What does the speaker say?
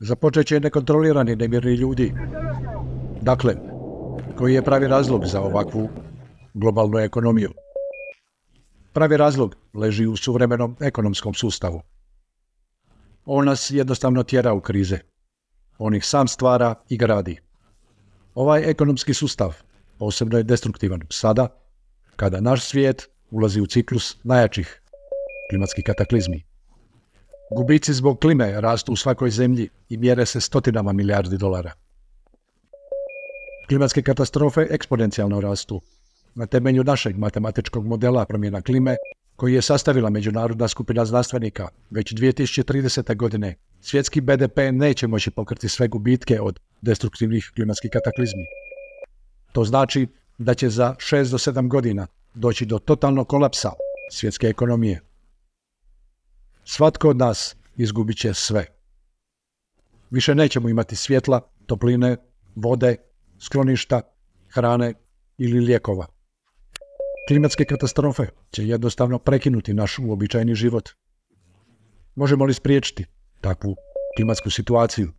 Započet će nekontrolirani nemirni ljudi. Dakle, koji je pravi razlog za ovakvu globalnu ekonomiju? Pravi razlog leži u suvremenom ekonomskom sustavu. On nas jednostavno tjera u krize. On ih sam stvara i gradi. Ovaj ekonomski sustav posebno je destruktivan sada, kada naš svijet ulazi u ciklus najjačih klimatskih kataklizmi. Gubici zbog klime rastu u svakoj zemlji i mjere se stotinama milijardi dolara. Klimatske katastrofe eksponencijalno rastu. Na temelju našeg matematičkog modela promjena klime, koji je sastavila međunarodna skupina znanstvenika, već 2030. godine svjetski BDP neće moći pokriti sve gubitke od destruktivnih klimatskih kataklizmi. To znači da će za 6 do 7 godina doći do totalnog kolapsa svjetske ekonomije. Svatko od nas izgubit će sve. Više nećemo imati svjetla, topline, vode, skloništa, hrane ili lijekova. Klimatske katastrofe će jednostavno prekinuti naš uobičajeni život. Možemo li spriječiti takvu klimatsku situaciju?